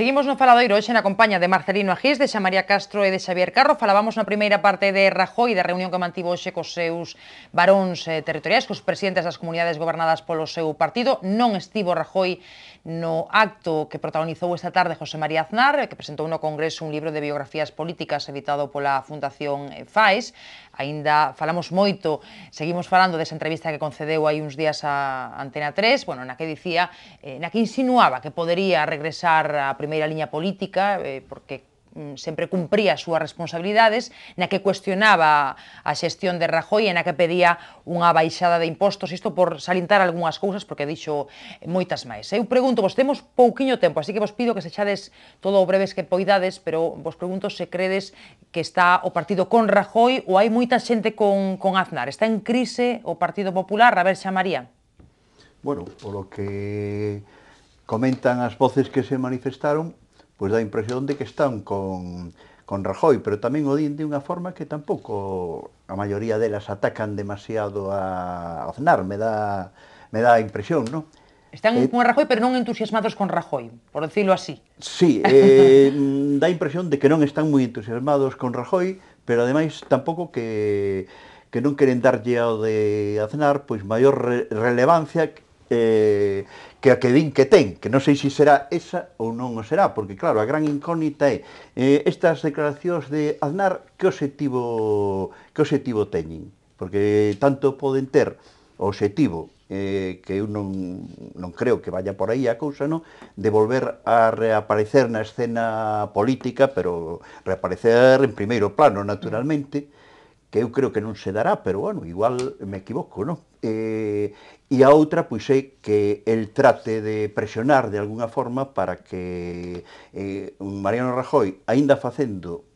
Seguimos no Faladoiro hoxe na compañía de Marcelino Agís, de Xamaría Castro e de Xavier Carro. Falábamos na primeira parte de Rajoy, da reunión que mantivo hoxe cos seus varóns territoriais, cos presidentes das comunidades gobernadas polo seu partido. Non estivo Rajoy no acto que protagonizou esta tarde José María Aznar, que presentou no Congreso un libro de biografías políticas editado pola Fundación FAES. Aínda falamos moito, seguimos falando desa entrevista que concedeu hai uns días a Antena 3, bueno, na que dicía, na que insinuaba que podería regresar á primeira liña política, porque sempre cumpría as súas responsabilidades, na que cuestionaba a xestión de Rajoy e na que pedía unha baixada de impostos, isto por salientar algunhas cousas, porque dixo moitas máis. Eu pregunto, vos temos pouquiño tempo, así que vos pido que sexades todo o breves que poidades, pero vos pregunto se credes que está o partido con Rajoy ou hai moita xente con Aznar. Está en crise o Partido Popular? A ver, Xamaría. Bueno, polo que comentan as voces que se manifestaron, pois dá a impresión de que están con Rajoy, pero tamén o din de unha forma que tampouco a maioría delas atacan demasiado a Aznar, me dá a impresión, non? Están con Rajoy, pero non entusiasmados con Rajoy, por decirlo así. Sí, dá a impresión de que non están moi entusiasmados con Rajoy, pero ademais tampouco que non queren darlle ao de Aznar pois maior relevancia que a que din que ten, que non sei se será esa ou non o será, porque claro, a gran incógnita é estas declaracións de Aznar que obxectivo teñen, porque tanto poden ter o obxectivo que eu non creo que vaya por aí a cousa, non? De volver a reaparecer na escena política, pero reaparecer en primeiro plano, naturalmente, que eu creo que non se dará, pero, bueno, igual me equivoco, non? E a outra, pois, é que el trate de presionar de alguna forma para que Mariano Rajoy, aínda facendo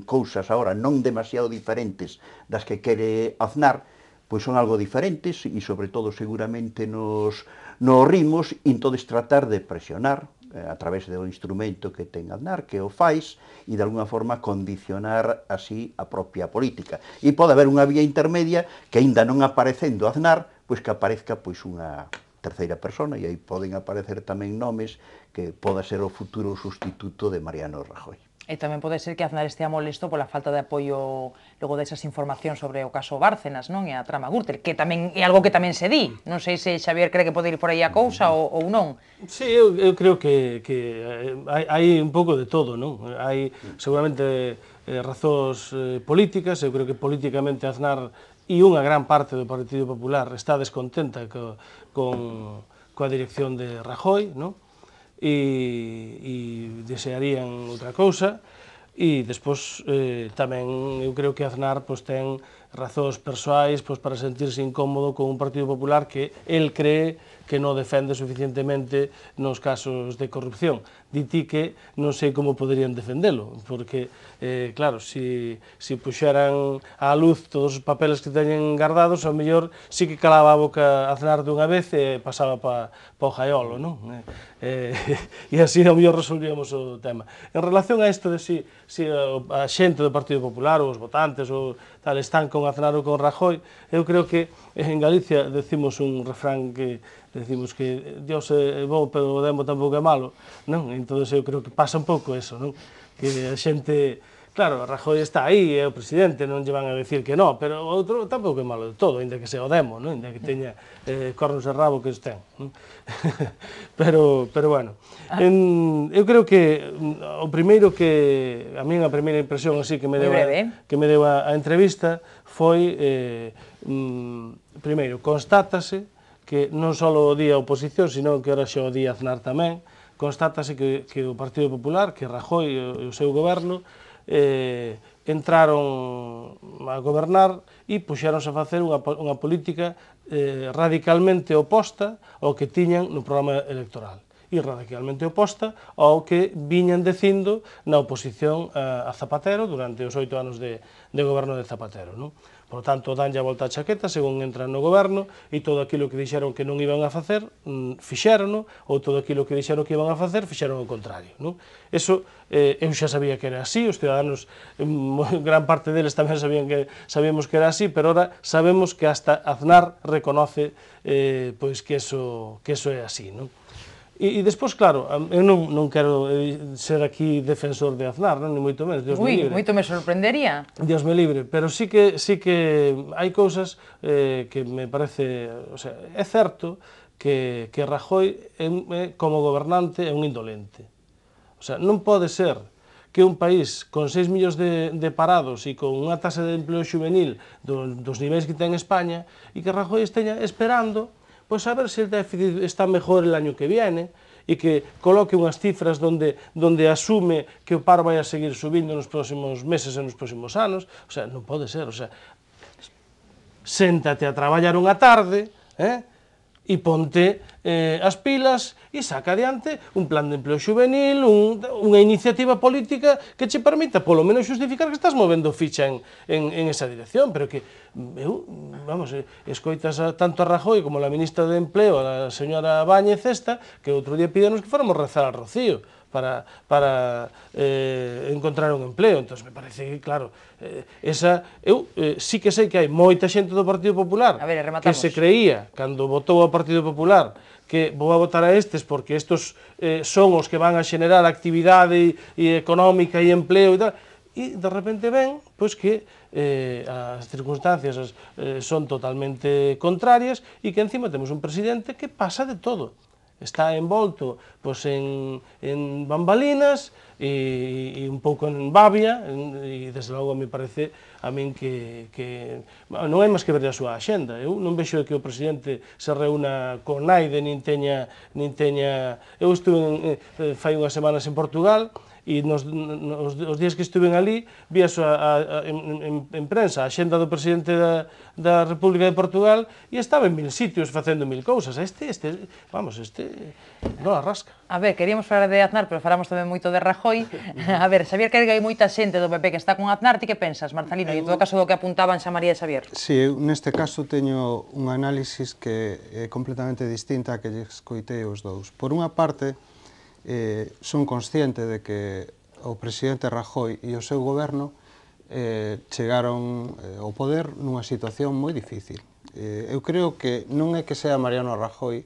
cousas agora non demasiado diferentes das que quere Aznar, pois son algo diferentes e, sobre todo, seguramente nos ritmos, e entonces tratar de presionar a través do instrumento que ten Aznar, que o fais, e de alguna forma condicionar así a propia política. E pode haber unha vía intermedia que, aínda non aparecendo Aznar, pois que aparezca pois unha terceira persona, e aí poden aparecer tamén nomes que poda ser o futuro sustituto de Mariano Rajoy. E tamén pode ser que Aznar estea molesto pola falta de apoio logo desas informacións sobre o caso Bárcenas, non? E a trama Gürtel, que tamén é algo que tamén se di. Non sei se Xavier cree que pode ir por aí a cousa ou non. Sí, eu creo que hai un pouco de todo, non? Hai seguramente razóns políticas, eu creo que políticamente Aznar e unha gran parte do Partido Popular está descontenta coa dirección de Rajoy, non? E desearían outra cousa, e despois tamén eu creo que Aznar ten razóns persoais para sentirse incómodo con un Partido Popular que el cree que non defende suficientemente nos casos de corrupción. Diti que non sei como poderían defendelo, porque, claro, se puxeran á luz todos os papeles que teñen guardados, ao mellor sí que calaba a boca Aznar dunha vez e pasaba pa o jaiolo, non? E así ao mellor resolvíamos o tema. En relación a isto de se a xente do Partido Popular ou os votantes ou tal están con Aznar ou con Rajoy, eu creo que en Galicia decimos un refrán que decimos que Dios é bo, pero o demo tampouco é malo, non? Entón eu creo que pasa un pouco eso, non? Que a xente, claro, Rajoy está aí, é o presidente, non lle van a decir que non, pero o outro tampouco é malo de todo, ainda que sea o demo, non? Ainda que teña cornos e rabo que os ten, non? Pero, bueno, eu creo que o primeiro que, a min a primeira impresión así que me deu a entrevista foi, primeiro, constátase que non só o día a oposición, sino que ahora xa o día Aznar tamén, constátase que o Partido Popular, que Rajoy e o seu goberno, entraron a gobernar e puxeronse a facer unha política radicalmente oposta ao que tiñan no programa electoral e radicalmente oposta ao que viñan dicindo na oposición a Zapatero durante os 8 anos de goberno de Zapatero, non? Por tanto, danlle a volta a chaqueta según entran no goberno e todo aquilo que dixeron que non iban a facer, fixérono, ou todo aquilo que dixeron que iban a facer, fixeron o contrario, non? Eso, eu xa sabía que era así, os ciudadanos, gran parte deles tamén sabíamos que era así, pero ahora sabemos que hasta Aznar reconoce pois que eso é así, non? E despois, claro, eu non quero ser aquí defensor de Aznar, ni moito menos, Dios me libre. Moito me sorprendería. Dios me libre, pero sí que hai cousas que me parece, o sea, é certo que Rajoy como gobernante é un indolente. O sea, non pode ser que un país con 6 millóns de parados e con unha tasa de empleo juvenil dos niveis que ten España e que Rajoy esteña esperando pois a ver se o déficit está mejor el año que viene e que coloque unhas cifras donde asume que o paro vai a seguir subindo nos próximos meses e nos próximos anos. O sea, non pode ser, o sea, séntate a traballar unha tarde, e ponte as pilas e saca adiante un plan de empleo juvenil, unha iniciativa política que che permita polo menos xustificar que estás movendo ficha en esa dirección, pero que vamos, escoitas tanto a Rajoy como a ministra de Empleo, a señora Báñez esta, que outro día pídenos que fóramos rezar al Rocío para encontrar un empleo. Entón, me parece que, claro, eu sí que sei que hai moita xente do Partido Popular que se creía, cando votou ao Partido Popular, que vou a votar a estes porque estes son os que van a xenerar actividade económica e empleo e tal, e de repente ven pois que as circunstancias son totalmente contrarias e que encima temos un presidente que pasa de todo. Está envolto pois, en bambalinas e un pouco en babia e desde logo me parece a min que non hai máis que ver a súa axenda. Eu non vexo que o presidente se reúna con naide nin teña eu estuve fai unhas semanas en Portugal e os días que estuven ali vi en prensa a xenda do presidente da República de Portugal e estaba en 1000 sitios facendo 1000 cousas. Vamos, non arrasca. A ver, queríamos falar de Aznar, pero falamos tamén moito de Rajoy. A ver, Xavier, que hai moita xente do PP que está con Aznar, ti que pensas, Marcelino? E en todo caso do que apuntaban Xa María e Xavier. Si, eu neste caso teño un análisis que é completamente distinta a que lle escoitei os dous. Por unha parte, son consciente de que o presidente Rajoy e o seu goberno chegaron ao poder nunha situación moi difícil. Eu creo que non é que sea Mariano Rajoy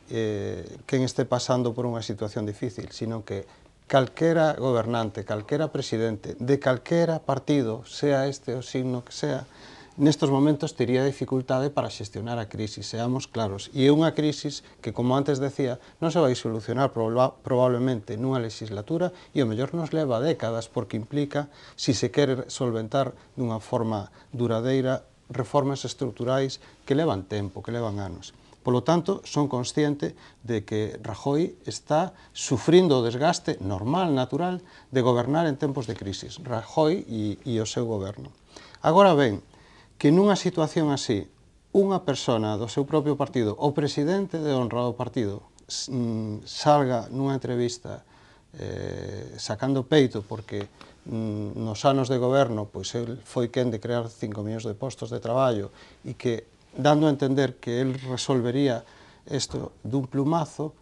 quen este pasando por unha situación difícil, sino que calquera gobernante, calquera presidente de calquera partido, sea este o signo que sea, nestos momentos tería dificultade para xestionar a crisis, seamos claros. E é unha crisis que, como antes decía, non se vai solucionar probablemente nunha legislatura e o mellor nos leva décadas porque implica, si se quere solventar dunha forma duradeira, reformas estruturais que levan tempo, que levan anos. Polo tanto, son consciente de que Rajoy está sufrindo o desgaste normal, natural, de gobernar en tempos de crisis. Rajoy e o seu goberno. Agora ben, que nunha situación así, unha persona do seu propio partido, o presidente de honra do partido, salga nunha entrevista sacando peito porque nos anos de goberno pois el foi quen de crear 5 millóns de postos de traballo e que dando a entender que el resolvería isto dun plumazo,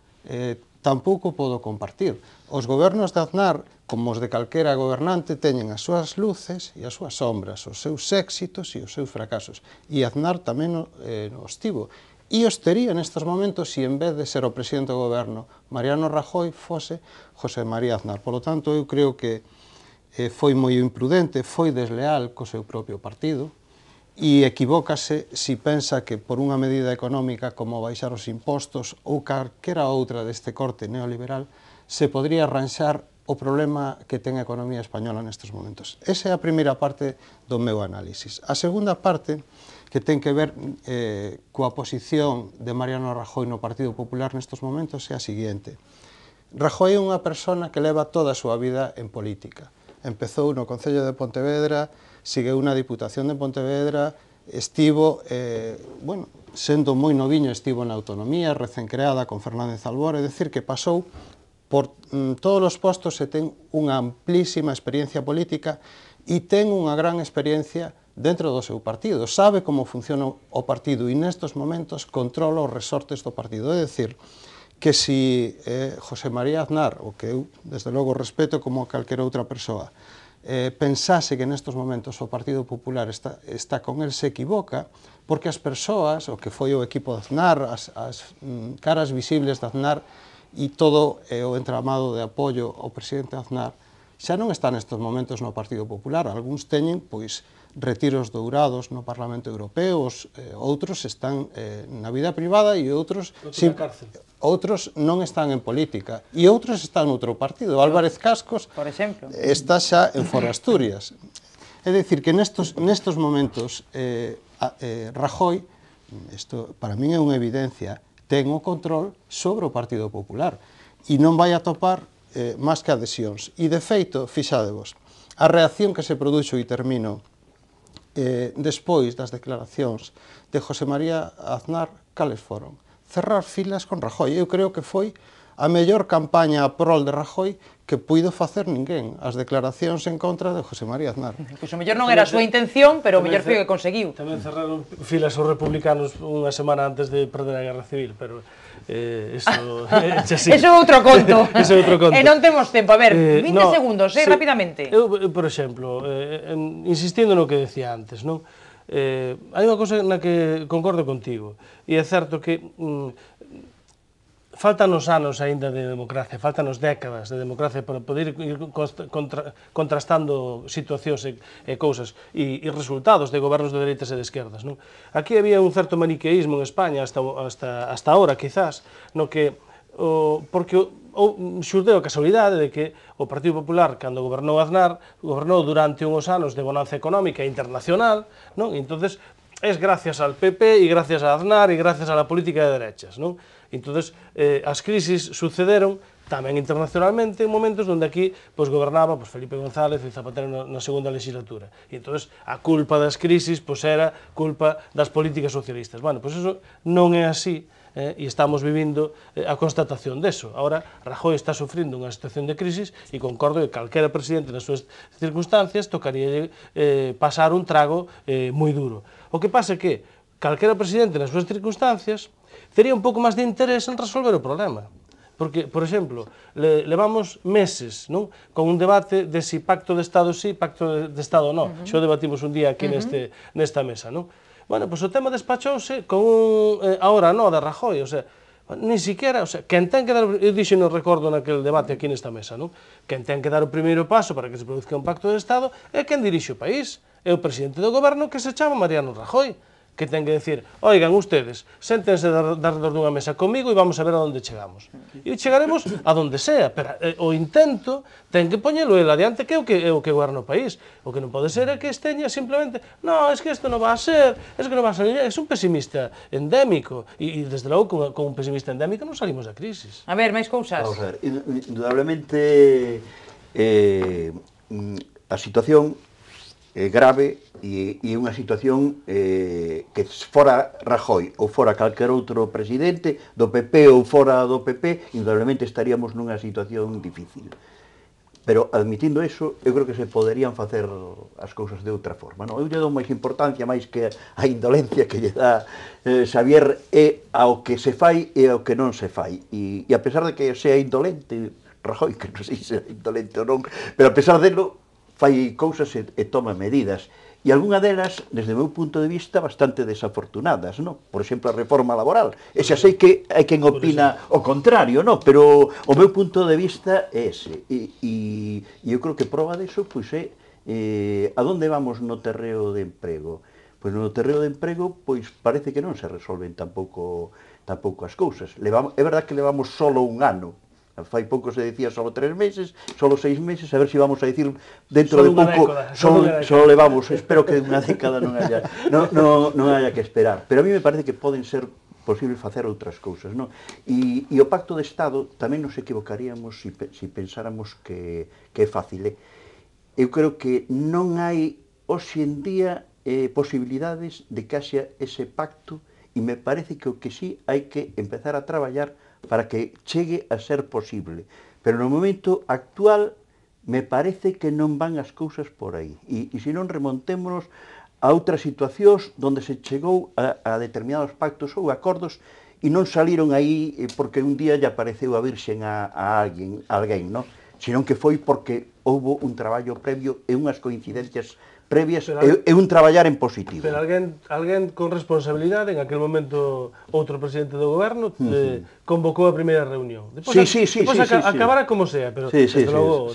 tampouco podo compartir. Os gobernos de Aznar, como os de calquera gobernante, teñen as súas luces e as súas sombras, os seus éxitos e os seus fracasos. E Aznar tamén os tivo. E os tería nestes momentos se en vez de ser o presidente do goberno Mariano Rajoy fose José María Aznar. Por lo tanto, eu creo que foi moi imprudente, foi desleal co seu propio partido, e equivócase si pensa que por unha medida económica como baixar os impostos ou calquera outra deste corte neoliberal se podría arranxar o problema que ten a economía española nestes momentos. Esa é a primeira parte do meu análisis. A segunda parte, que ten que ver coa posición de Mariano Rajoy no Partido Popular nestes momentos, é a seguinte. Rajoy é unha persona que leva toda a súa vida en política. Empezou no Concello de Pontevedra, segueu na Diputación de Pontevedra, estivo, sendo moi noviño, estivo na autonomía, recén creada con Fernández Albor, é dicir, que pasou por todos os postos e ten unha amplísima experiencia política e ten unha gran experiencia dentro do seu partido. Sabe como funciona o partido e nestes momentos controla os resortes do partido. É dicir, que si José María Aznar, o que eu, desde logo, respeto como calquera outra persoa, pensase que nestes momentos o Partido Popular está con el, se equivoca, porque as persoas, o que foi o equipo de Aznar, as caras visibles de Aznar, e todo o entramado de apoio ao presidente Aznar xa non está nestes momentos no Partido Popular. Algúns teñen, pois, retiros dourados no Parlamento Europeo, outros están na vida privada e outros non están en política e outros están noutro partido. Álvarez Cascos por exemplo, está xa en Foro Asturias. É dicir que nestos momentos Rajoy, isto para min é unha evidencia, ten o control sobre o Partido Popular e non vai atopar máis que adhesións. E de feito, fixadevos, a reacción que se produxo, e termino, despois das declaracións de José María Aznar, cales foron? Cerrar filas con Rajoy. Eu creo que foi a mellor campaña a prol de Rajoy que puido facer ninguén, as declaracións en contra de José María Aznar. Pois o mellor non era a súa intención, pero o mellor foi o que conseguiu. Tamén cerraron filas os republicanos unha semana antes de perder a Guerra Civil, pero eso é outro conto. Eso é outro conto. E non temos tempo. A ver, 20 segundos, sí, rapidamente. Eu, por exemplo, insistindo no que decía antes, non? Hai unha cosa na que concordo contigo, e é certo que faltanos anos aínda de democracia, faltanos décadas de democracia para poder ir contrastando situacións e cousas e resultados de gobernos de dereitas e de esquerdas, non? Aquí había un certo maniqueísmo en España hasta ahora, quizás, no que porque xurdeu a casualidade de que o Partido Popular, cando gobernou Aznar, gobernou durante unhos anos de bonanza económica internacional, non? E entonces es gracias al PP e gracias a Aznar e gracias a la política de derechas, non? Entonces, as crisis sucederon tamén internacionalmente en momentos onde aquí gobernaba Felipe González e Zapatero na segunda legislatura. E entonces a culpa das crisis era culpa das políticas socialistas. Bueno, pois eso non é así, e estamos vivindo a constatación deso. Ahora, Rajoy está sufrindo unha situación de crisis e concordo que calquera presidente nas súas circunstancias tocaría pasar un trago moi duro. O que pasa é que calquera presidente nas súas circunstancias tería un pouco máis de interés en resolver o problema. Porque, por exemplo, levamos meses, non, con un debate de si pacto de Estado sí, pacto de Estado non. Xo debatimos un día aquí nesta mesa, non? Bueno, pois o tema despachouse con ahora non de Rajoy, o sea, ni siquiera, o sea, quen ten que dar, eu dixo no recordo naquele debate aquí nesta mesa, non? Quen ten que dar o primeiro paso para que se produzca un pacto de Estado é quen dirixe o país, é o presidente do goberno que se chama Mariano Rajoy, que ten que decir, oigan, ustedes, séntense alrededor dunha mesa comigo e vamos a ver a onde chegamos. E chegaremos a donde sea, pero o intento ten que poñelo el adiante, que é o que goberna o país. O que non pode ser é que esteña simplemente, no, es que isto non va a ser, es que non va a salir, é un pesimista endémico, e desde logo con un pesimista endémico non salimos da crisis. A ver, máis cousas. Vamos a ver, indudablemente a situación grave e unha situación que fora Rajoy ou fora calquer outro presidente do PP ou fora do PP, indudablemente estaríamos nunha situación difícil. Pero admitindo eso, eu creo que se poderían facer as cousas de outra forma. Non? Eu lle dou máis importancia, máis que a indolencia que lle dá Xavier, é ao que se fai e ao que non se fai. E a pesar de que sea indolente, Rajoy, que non sei se é indolente ou non, pero a pesar delo, fai cousas e toma medidas. E algunha delas, desde o meu punto de vista, bastante desafortunadas, non? Por exemplo, a reforma laboral. E xa sei que hai quen opina o contrario, non? Pero o meu punto de vista é ese. E eu creo que prova deso, pois é a donde vamos no terreo de emprego. Pois no terreo de emprego, pois parece que non se resolven tampouco as cousas. É verdad que levamos solo un ano. Fai pouco se decía solo 3 meses, solo 6 meses, a ver se vamos a decir dentro de pouco, solo levamos, espero que unha década non haya que esperar. Pero a mí me parece que poden ser posible facer outras cousas, non? E o pacto de Estado tamén nos equivocaríamos se pensáramos que é fácil. Eu creo que non hai hoxe en día posibilidades de que haxa ese pacto e me parece que o que sí hai que empezar a traballar para que chegue a ser posible. Pero no momento actual me parece que non van as cousas por aí. E se non remontémonos a outras situacións onde se chegou a determinados pactos ou acordos e non saliron aí porque un día lle apareceu a virxen a alguén, non? Senón que foi porque houbo un traballo previo e unhas coincidencias previas e un traballar en positivo. Pero alguén con responsabilidade, en aquel momento outro presidente do goberno, convocou a primeira reunión. Depois acabará como sea, pero desde logo...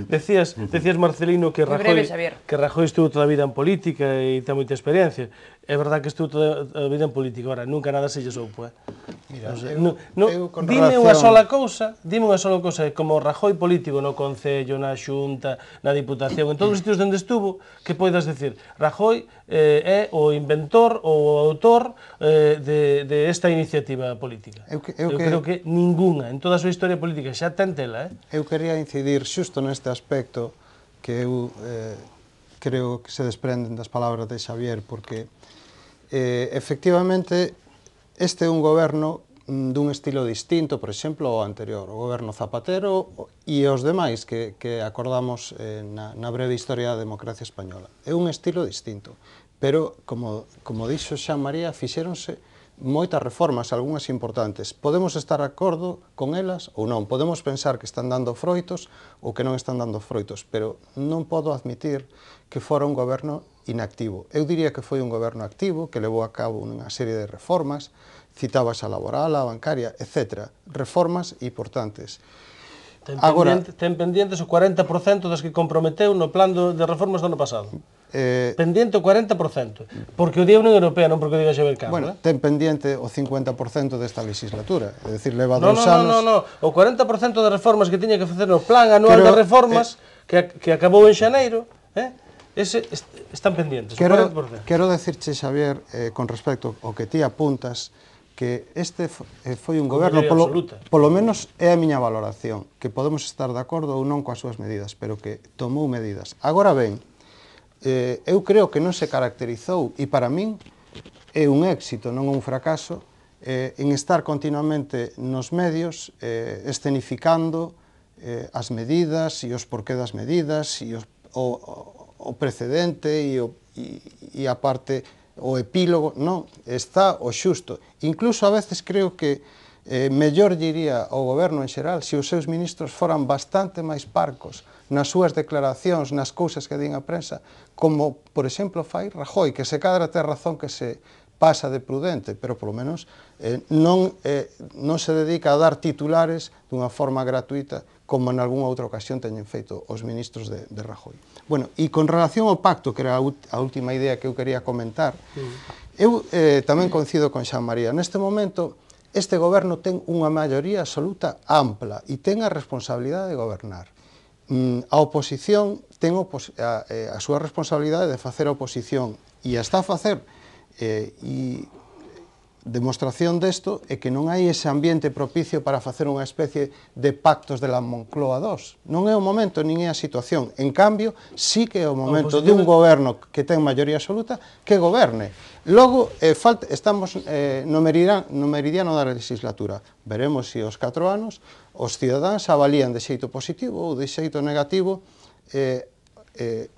Decías, Marcelino, que Rajoy estuvo toda a vida en política e ten moita experiencia. É verdad que estuvo toda a vida en política, ahora nunca nada se lle soupo, Mira, dime unha sola cousa, como Rajoy político no Concello, na Xunta, na Diputación, en todos os sitios onde estuvo, que poidas decir, Rajoy é o inventor ou o autor de esta iniciativa política. Eu creo que ninguna, en toda a súa historia política, xa ten tela, Eu quería incidir xusto neste aspecto que eu creo que se desprenden das palabras de Xavier, porque efectivamente este é un goberno dun estilo distinto, por exemplo, ao anterior, o goberno Zapatero e os demais que acordamos na breve historia da democracia española. É un estilo distinto, pero, como dixo Xan María, fixéronse moitas reformas, algunhas importantes. Podemos estar de acordo con elas ou non, podemos pensar que están dando froitos ou que non están dando froitos, pero non podo admitir que fora un goberno inactivo. Eu diría que foi un goberno activo, que levou a cabo unha serie de reformas, citabas a laboral, a bancaria, etc. Reformas importantes. Ten pendientes o 40% das que comprometeu no plan de reformas do ano pasado. Pendiente o 40%, porque o di a Unión Europea, non porque o diga Xavier Cambra. Bueno, ten pendiente o 50% desta legislatura, é dicir, leva 2 anos... Non, o 40% de reformas que tiña que facer no plan anual de reformas, que acabou en xaneiro, están pendientes, o 40%. Quero decirche, Xavier, con respecto ao que ti apuntas, que este foi un goberno, polo menos é a miña valoración, que podemos estar de acordo ou non coas súas medidas, pero que tomou medidas. Agora ben, eu creo que non se caracterizou, e para min é un éxito, non un fracaso, en estar continuamente nos medios escenificando as medidas e os porqué das medidas e o precedente e a parte, o epílogo, non, está o xusto. Incluso a veces creo que mellor diría ao goberno en xeral se os seus ministros foran bastante máis parcos nas súas declaracións, nas cousas que din a prensa, como, por exemplo, fai Rajoy, que se cadra ten razón que se pasa de prudente, pero polo menos non se dedica a dar titulares dunha forma gratuita como en algunha outra ocasión teñen feito os ministros de Rajoy. Bueno, e con relación ao pacto, que era a última idea que eu quería comentar, eu tamén coincido con Xan María. Neste momento, este goberno ten unha maioría absoluta ampla e ten a responsabilidade de gobernar. A oposición ten a súa responsabilidade de facer a oposición e a está a facer, e demostración desto é que non hai ese ambiente propicio para facer unha especie de pactos de la Moncloa II. Non é o momento, nin é a situación. En cambio, sí que é o momento de un goberno que ten maioría absoluta que goberne. Logo, estamos no meridiano da legislatura. Veremos se aos 4 anos os cidadáns avalían de xeito positivo ou de xeito negativo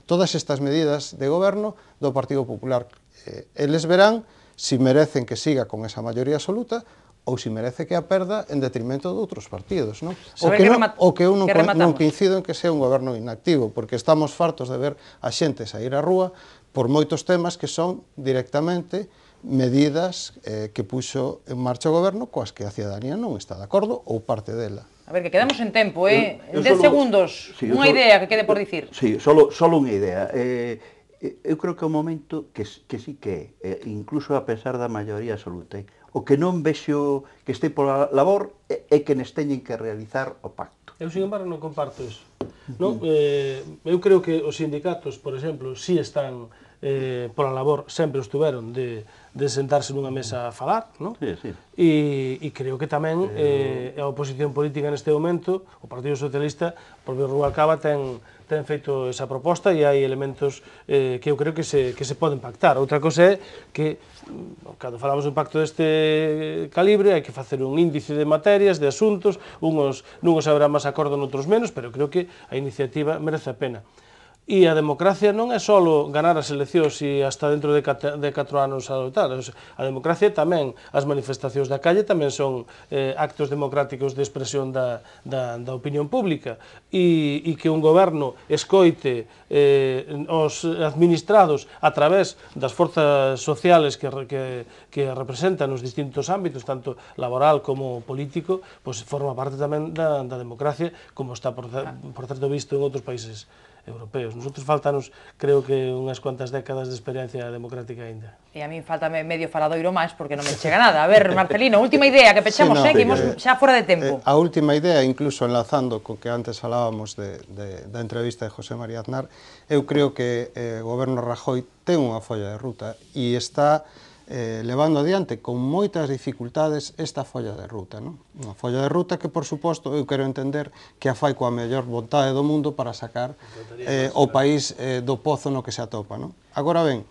todas estas medidas de goberno do Partido Popular. Eles verán se merecen que siga con esa maioría absoluta ou se merece que a perda en detrimento de outros partidos, non? O que eu non coincido en que sea un goberno inactivo, porque estamos fartos de ver a xente sair á rúa por moitos temas que son directamente medidas que puxo en marcha o goberno coas que a cidadanía non está de acordo ou parte dela. A ver, que quedamos en tempo, en 10 segundos, unha idea que quede por dicir. Sí, solo unha idea. Eu creo que é o momento que sí que é, incluso a pesar da maioría absoluta, o que non vexo que este pola labor é que nes teñen que realizar o pacto. Eu, sin embargo, non comparto iso. Eu creo que os sindicatos, por exemplo, si están pola labor, sempre estuveron de sentarse nunha mesa a falar, non? E creo que tamén a oposición política neste momento, o Partido Socialista, o propio Rubalcaba ten feito esa proposta e hai elementos que eu creo que se poden pactar. Outra cosa é que, cando falamos dun pacto deste calibre, hai que facer un índice de materias, de asuntos, nuns haberá máis acordo, noutros menos, pero creo que a iniciativa merece a pena. E a democracia non é só ganar as eleccións e hasta dentro de 4 anos a tal. A democracia tamén, as manifestacións da calle tamén son actos democráticos de expresión da opinión pública, e que un goberno escoite os administrados a través das forzas sociales que representan nos distintos ámbitos, tanto laboral como político, pois forma parte tamén da democracia, como está, por certo, visto en outros países europeos. Nosotros faltanos, creo que, unhas cuantas décadas de experiencia democrática aínda. E a min faltame medio faladoiro máis porque non me chega nada. A ver, Marcelino, última idea que pechamos, que imos xa fora de tempo. A última idea, incluso enlazando co que antes falábamos da entrevista de José María Aznar, eu creo que o goberno Rajoy ten unha folla de ruta e está levando adiante con moitas dificultades esta folla de ruta. Unha folla de ruta que, por suposto, eu quero entender que a fai coa mellor vontade do mundo para sacar o país do pozo no que se atopa. Agora ben,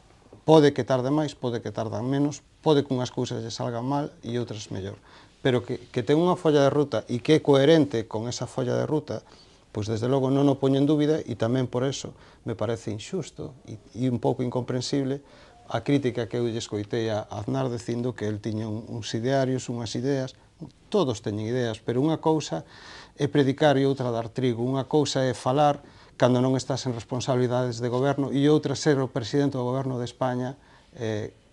pode que tarde máis, pode que tardan menos, pode que unhas cousas lle salgan mal e outras mellor, pero que ten unha folla de ruta e que é coherente con esa folla de ruta, pois desde logo non o poño en dúbida, e tamén por eso me parece injusto e un pouco incomprensible a crítica que eu lle escoitei a Aznar dicindo que el tiña uns idearios, unhas ideas. Todos teñen ideas, pero unha cousa é predicar e outra dar trigo. Unha cousa é falar cando non estás en responsabilidades de goberno e outra ser o presidente do goberno de España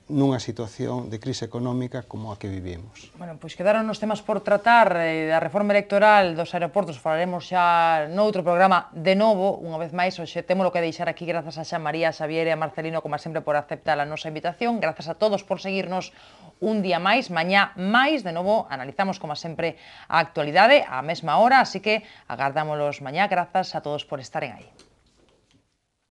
nunha situación de crise económica como a que vivimos. Bueno, pois quedaron os temas por tratar da reforma electoral dos aeroportos, falaremos xa noutro programa de novo, unha vez máis, hoxe temos que deixar aquí grazas a Xa María, a Xavier e a Marcelino, como sempre, por aceptar a nosa invitación, grazas a todos por seguirnos un día máis, mañá máis, de novo, analizamos, como sempre, a actualidade á mesma hora, así que agardámolos mañá, grazas a todos por estaren aí.